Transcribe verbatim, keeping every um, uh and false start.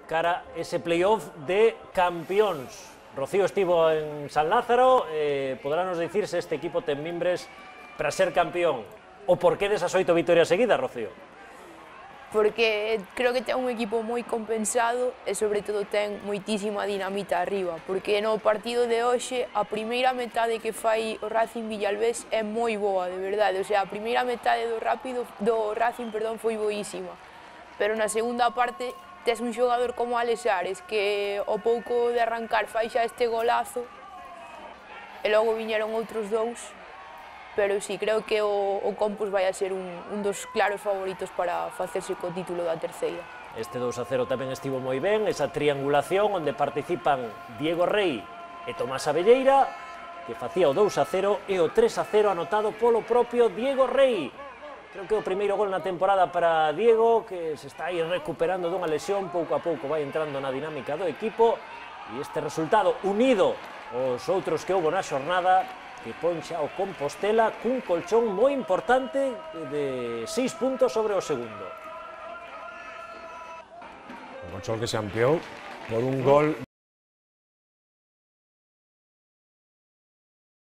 cara ese playoff de campións. Rocío estivo en San Lázaro, eh, poderános dicir se este equipo ten mimbres para ser campeón o por que desas oito vitorias seguidas, Rocío? Porque creo que ten un equipo moi compensado e sobre todo ten moitísima dinamita arriba, porque no partido de hoxe a primeira metade que fai o Racing Villalbés é moi boa, de verdade, o sea, a primeira metade do rápido do Racing, perdón, foi boísima, pero na segunda parte tes un xogador como Alex Ares que ao pouco de arrancar fai xa este golazo e logo viñeron outros dous, pero sí, creo que o, o Compos vai a ser un, un dos claros favoritos para facerse co título da terceira. Este dous a cero tamén estivo moi ben, esa triangulación onde participan Diego Rey e Tomás Abelleira, que facía o dous a cero e o tres a cero anotado polo propio Diego Rey. Creo que o primeiro gol na temporada para Diego, que se está aí recuperando dunha lesión, pouco a pouco vai entrando na dinámica do equipo, e este resultado unido aos outros que houbo na xornada, que pon xa o Compostela cun colchón moi importante de seis puntos sobre o segundo. Un colchón que se ampliou por un gol